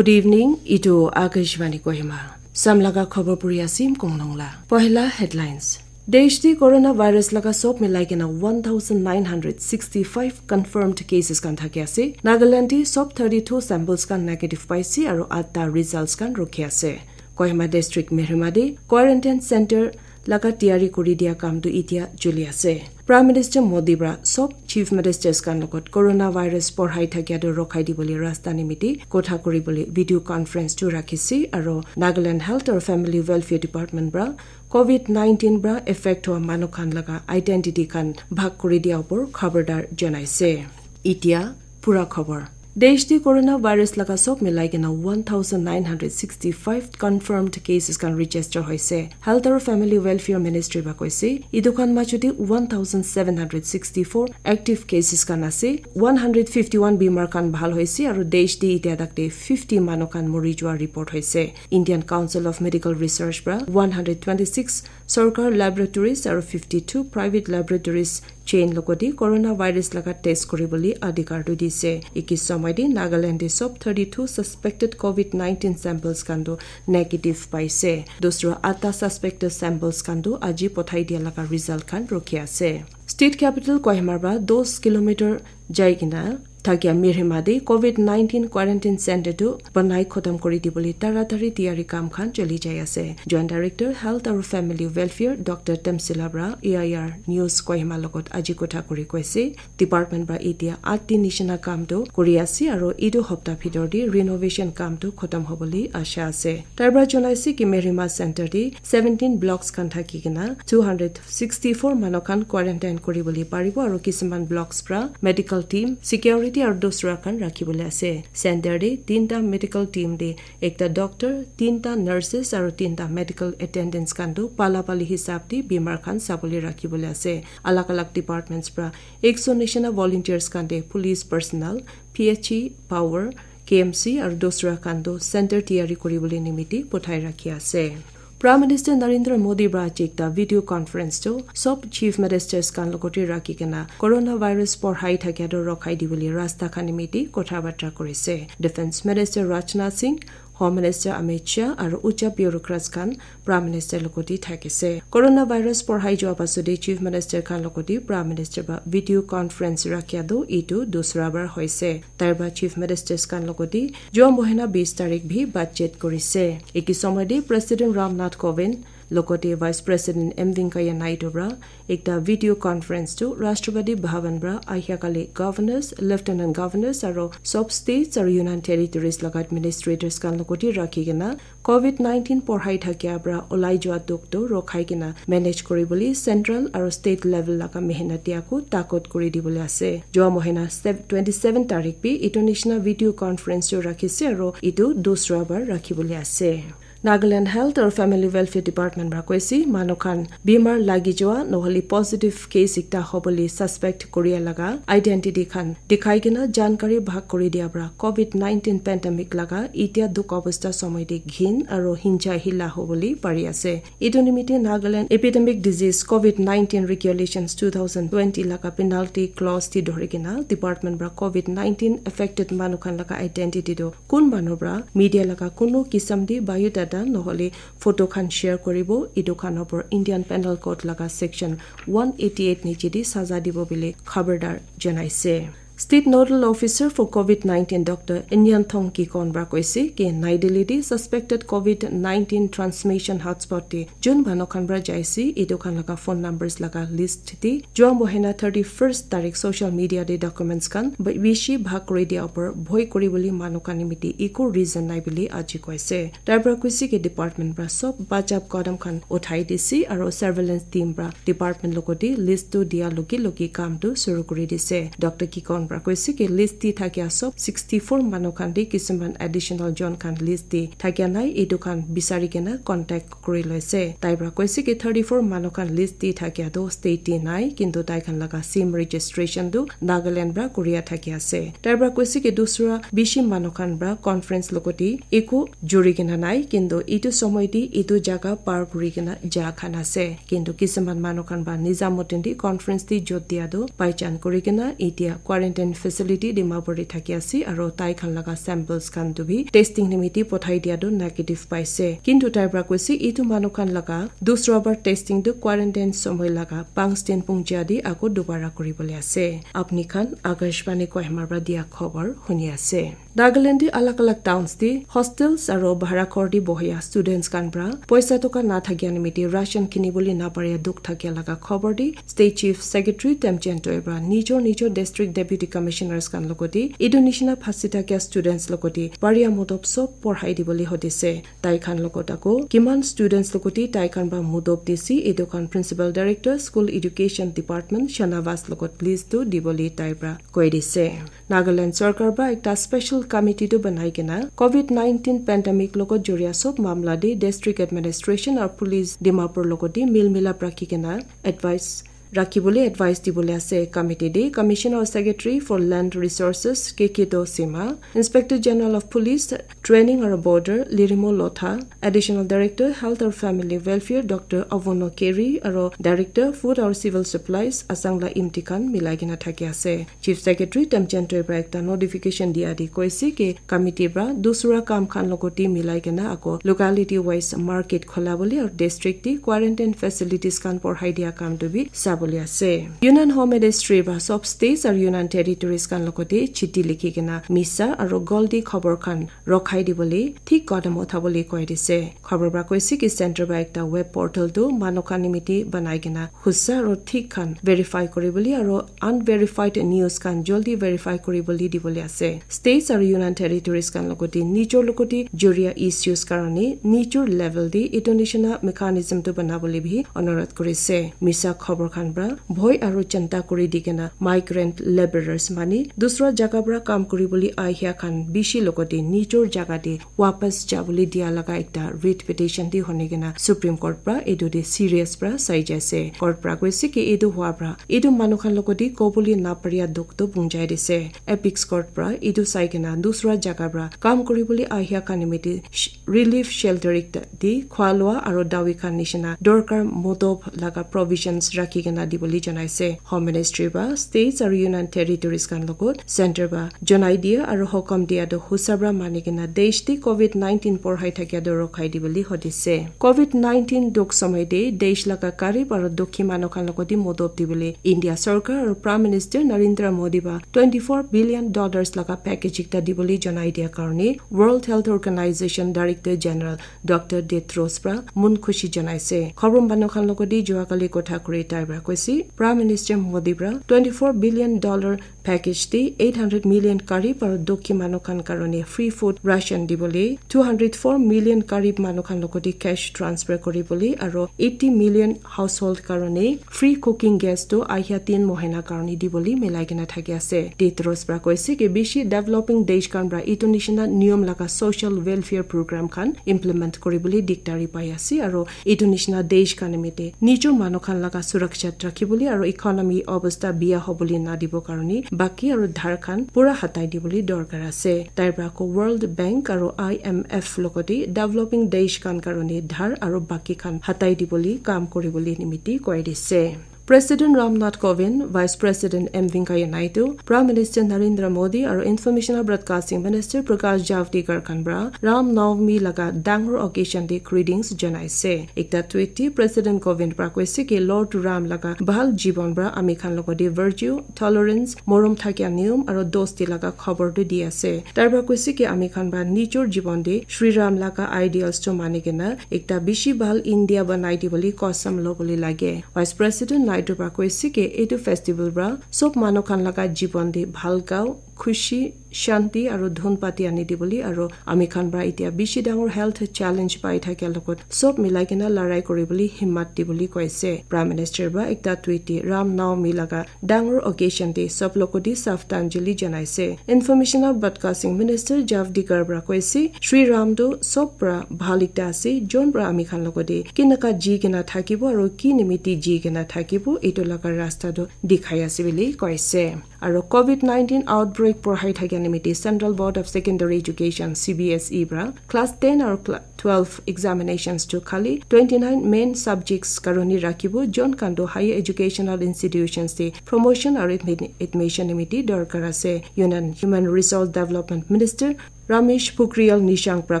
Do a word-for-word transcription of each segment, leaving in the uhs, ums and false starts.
Good evening, itu Akashvani Kohima. Samlaga khobor puri asim kongnongla. Pohila headlines. Desh di coronavirus laga sob milai kena one thousand nine hundred sixty-five confirmed cases kan thaki ase. Nagaland di sob thirty-two samples kan negative paise aru atta results kan rukhi ase. Kohima district Mehrimadi quarantine center laga tiyari kuri dia kam tu itia choli ase. Prime Minister Modi pra sob Chief Ministers kan logot coronavirus porhai thakia tu rokhai dibole rasta nimiti kotha kuribole video conference tu rakhise aru Nagaland Health aru Family Welfare Department pra covid nineteen pra affect hua manu khan laga identity khan bhag kuri dia upor khabardar janaise. Itia pura khobor. Desh di coronavirus laga sob milai kena one thousand nine hundred sixty-five confirmed cases kan register hoise. Health aru Family Welfare Ministry ba koise, itu khan majo di one thousand seven hundred sixty-four active cases kan ase, one hundred fifty-one bimar kan bhal hoise aru desh di itia tak te fifty manu kan mori jua report hoise. Indian Council of Medical Research pra one hundred twenty-six sorkar laboratories aru fifty-two private laboratories chain logoti coronavirus laga test kuribole adhikar tu dise. Iki somoi te Nagaland te sob thirty-two suspected covid nineteen samples kan tu negative paise. Dusra atta suspected samples kan tu aji pothai dia laga result kan rukhi ase. State capital Kohima pra dos kilometer jai kena thakia Mehrimadi covid nineteen quarantine center tu banai khotam kuri dibole taratari tiyari kam khan choli jai ase. Joint Director Health aru Family Welfare Doctor Temsila pra A I R News Kohima logot aji kotha kuri koise, department pra itia atti nishina kam tu kuri ase aru itu hopta bhitor te renovation kam tu khotam hobole asha ase. Tai pra janaise ki Mehrima center te seventeen blocks khan thaki kena two hundred sixty-four manu khan quarantine kuribole paribo aru kisiman blocks pra medical team, security aru dusra khan rakhibole ase. Center te tinta medical team te ekta doctor, tinta nurses aru tinta medical attendants khan tu pala pali hisab te bimar khan sabole rakhibole ase. Alag alag departments pra ekso nishina volunteers khan te police personnel, P H E power, K M C aru dusra khan tu center tiyari kuribole nimiti pothai rakhi ase. Prime Minister Narendra Modi pra aji ekta video conference tu sob Chief Ministers khan logote rakhi kena coronavirus porhai thakia tu rokhai dibole rasta khan nimiti kotha batra kurise. Defense Minister Rajnath Singh, Home Minister Amit Shah aru ucha bureaucrats khan Prime Minister logote thakise. Coronavirus porhai jua pasode Chief Minister khan logote Prime Minister pra video conference rakhia tu itu dusra bar hoise. Tai pra Chief Ministers khan logote jua mohina bis tarik bhi batchet kurise. Eki somoi te President Ram Nath Kovind logote Vice President M Venkaiah Naidu pra ekta video conference tu Rashtrapati Bhavan pra ahia kali governors, lieutenant governors aru sob states aru union territories laga administrators khan logote rakhi kena covid nineteen porhai thakia pra olai jua dukh tu rokhai kena manage kuribole central aru state level laga mehnat tiaku takot kuri dibole ase. Jua mohina sev-, twenty-seven tarik bi itu nishina video conference tu rakhise aru itu dusra bar rakhibole ase. Nagaland Health aru Family Welfare Department pra koise manu khan bimar lagi jua nohole positive case ekta hobole suspect kuria laga identity khan dikhai kena jankari bhag kuri dia pra covid nineteen pandemic laga itia dukh obostha somoi te ghin aru hincha hila hobole pari ase. Itu nimite Nagaland Epidemic Disease covid nineteen Regulations two thousand twenty laga penalty clause te dhori kena department pra covid nineteen affected manu khan laga identity tu kun manu pra media laga kunu kisam te biodata nohole photo khan share kuribo, itu khan opor Indian Penal Code laga section one eighty eight niche te saza dibo bole khabardar janaise. State Nodal Officer for covid nineteen Doctor Inyan Thong Kikon pra koise ki Nai Delhi te suspected covid nineteen transmission hotspot te jun manu khan pra jaise, itu khan laga phone numbers laga list te jua mohina thirty-first tarik social media te documents khan b-, bishi bhag kuri dia upor bhoi kuribole manu khan nimite eku reason nai bole aji koise. Tai pra koise ki department pra sob bachap kadam khan uthai dise aru surveillance team pra department logote list tu dia logi logi kam tu suru kuri dise. Doctor Kikon pra koise ki list te thakia sob sixty-four manu khan te kisuman additional jon khan list te thakia nai, itu khan bisari kena contact kuri loise. Tai pra koise ki thirty-four manu khan list te thakia tu state te nai, kintu tai khan laga sim registration tu Nagaland pra kuria thaki ase. Tai pra koise ki dusra bishi manu khan pra conference logote eku juri kena nai, kintu itu somoi te itu jaga par kuri kena ja khan ase. Kintu kisuman manu khan pra nija moten te conference te jot dia tu paichan kuri kena itia quarantine quarantine facility Dimapur te thaki ase, aro tai khan laga samples khan tu bi testing nimiti pothai dia tu negative paise. Kintu tai pra koise, itu manu khan laga dusra bar testing tu quarantine somoy laga panch din pungja di ako dubara kuribole ase. Apni khan Akashvani Kohima pra dia khobor huni ase. Nagaland te alag alag towns te hostels aro bhara ghor te bohia students khan pra poisa toka na thakia nimite ration kinibole na paria dukh thakia laga khobor te State Chief Secretary Temchen Toi pra nijor nijor district deputy commissioners khan logote etu nishina phasi thakia students logote paria motob sob porhai dibole hodise. Tai khan logot ako kiman students logote tai khan pra motob dise, etu khan Principal Director School Education Department Shanavas logot list tu dibole tai pra koi dise. Nagaland sarkar pra ekta special committee tu banai kena covid nineteen pandemic logot joria sob mamla de district administration aru police Dimapur logot de mil milap rakhi kena advice rakhi bole advice dibole ase. Committee de Commissioner Secretary for Land Resources K K Dosima, Inspector General of Police Training aru Border Lirimo Lotha, Additional Director Health aru Family Welfare Doctor Avono Keri aru Director Food aru Civil Supplies Asangla Imti khan milai kena thaki ase. Chief Secretary Temchen Toi pra ekta notification dia di koise ki committee pra dusra kam khan logote milai kena ako locality wise market khola bole aru district te quarantine facilities khan porhai dia kam tu bi sabole ase. Union Home Ministry pra sob states aru Union Territories khan logote chiti likhi kena misa aru goldi khobor khan rokhai dibole thik kadam uthabole koi dise. Khobor pra koise ki center pra ekta web portal tu manu khan nimite banai kena husa aro thik khan verify kuribole aro unverified news khan joldi verify kuribole dibole ase. States aro Union Territories khan logote nijor logote joria issues karone nijor level de etu nishina mechanism tu banabole bi onurodh kurise. Misa khobor khan pra bhoi aro chinta kuri di kena migrant laborers mane dusra jaga pra kam kuribole ahia khan bishi logote nijor jaga de wapas jabole dia laga ekta writ petition de hone kena Supreme Court pra etu de serious pra sai jaise. Court pra koise ki etu hua pra etu manu khan logote kobole na paria dukh to punjai dise. Apex Court pra etu sai kena dusra jaga pra kam kuribole ahia khan nimite sh- relief shelter ekta de khwa lua aro dawi khan nishina dorkar motob laga provisions rakhi kena dibole janaise. Home Ministry pra states aro Union Territories khan logot center pra janai dia aro hukam dia tu husa pra mani kena desh te covid nineteen porhai thakia tu rokhai dibole hodise. Covid nineteen dukh somoy te desh laga garib aro dukhi manu khan logote modob dibole India sarkar aro Prime Minister Narendra Modi pra twenty four billion dollars laga package ekta dibole janai dia karone World Health Organization Director General Doctor Tedros pra mon khushi janaise. Khobor manu khan logote jua kali kotha kuri tai pra koise Prime Minister Modi pra twenty four billion dollar package te eight hundred million garib aro dukhi manu khan karone free food ration dibole, two hundred four million garib manu khan logote cash transfer kuribole aro eighty million household karone free cooking gas tu ahia tin mohina karone dibole milai kena thaki ase. Tedros pra koise ki bishi developing desh khan pra etu nishina niyom laga social welfare program khan implement kuribole dikdari pai ase aro etu nishina desh khan nimite nijor manu khan laga suraksha rakhibole aro economy obostha biya hobole na dibo karone baki aro dhar khan pura hatai dibole dorkar ase. Tai pra ko World Bank aro I M F logote developing desh khan karone dhar aro baki khan hatai dibole kam kuribole nimiti koi dise. President Ram Nath Kovind, Vice President M Venkaiah Naidu, Prime Minister Narendra Modi aro Information and Broadcasting Minister Prakash Javadekar khan pra Ram Navami laga dangor occasion te greetings janaise. Ekta tweet te President Kovind pra koise ki Lord Ram laga bhal jibon pra ami khan logote virtue, tolerance, morom thakia niyom aro dosti laga khobor tu di ase. Tai pra koise ki ami khan pra nijor jibon te Shri Ram laga ideals tu mani kena ekta bishi bhal India banai dibole kosam lobole lage. Vice President Naidu pra koise ki etu festival pra sob manu khan laga jibon te bhal gao, khushi, shanti aro dhun pati ani dibole aro ami khan pra etia bishi dangor health challenge pai thakia logot sob milai kena larai kuribole himmat dibole koise. Prime Minister pra ekta tweet te Ram Navami laga dangor occasion te sob logote saftanjali janaise. Information and Broadcasting Minister Javadekar pra koise, Shri Ram tu sob pra bhal ekta ase, jon pra ami khan logote kinaka ji kena thakibo aro ki nimiti ji kena thakibo, etu laga rasta tu dikhai ase bole koise. Aro covid nineteen outbreak porhai thakia nimiti Central Board of Secondary Education, C B S E, pra class ten aru cla- twelve examinations tu khali twenty nine main subjects karone rakhibo. Jon khan tu higher educational institutions te promotion aru admi- admission nimiti dorkar ase. Union Human Resource Development Minister Ramesh Pokhriyal Nishank pra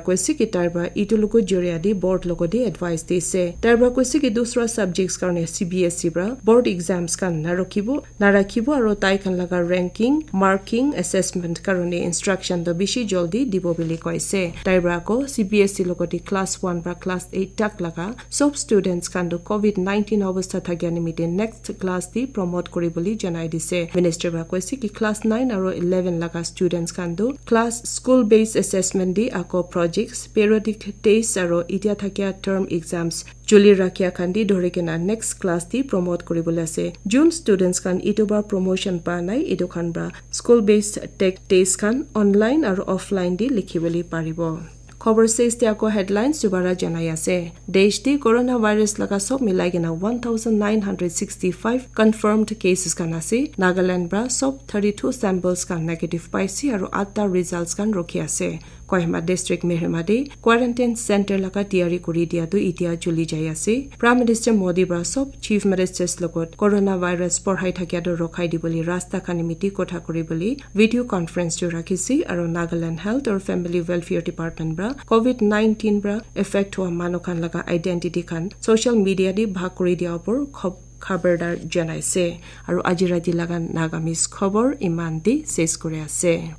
koise ki tai pra itu logo joria di board logo di advice dise. Tai pra koise ki dusra subjects karone C B S E pra board exams khan narokhibo, narakhibo aru tai khan laga ranking, marking, assessment karone instruction to bishi joldi dibo bili koise. Tai pra ko C B S E logo di class one pra class eight tak laga sob students khan tu covid nineteen obostha thakia nimite next class di promote kuri boli janai dise. Minister pra koise ki class nine aru eleven laga students khan tu class school based assessment di ako projects, periodic test aru itia thakia term exams chuli rakhia khan di dhori kena next class di promote kuri boli ase. Jun students khan itu ba promotion pa nai itu khan pra school based tech test khan online aru offline di likhi boli paribo. Khobor ses te ako headlines dubara janai ase. Desh te coronavirus laga sob milai kena one thousand nine hundred sixty five confirmed cases khan ase. Nagaland pra sob thirty two samples khan negative paise aru atta results khan rokhi ase. Kohima district Mehrimati quarantine center laga tiyari kuri dia tu itia chuli jai ase. Prime Minister Modi pra sob chief ministers logot coronavirus porhai thakia tu rokhai dibole rasta khan nimiti kotha kuri bole video conference tu rakhise aru Nagaland Health or Family Welfare Department pra covid nineteen pra effect hua manu khan laga identity khan social media di bhag kuri dia opor khob- khabardar janaise. Aru aji rati laga Nagamese khobor iman di ses kuri ase.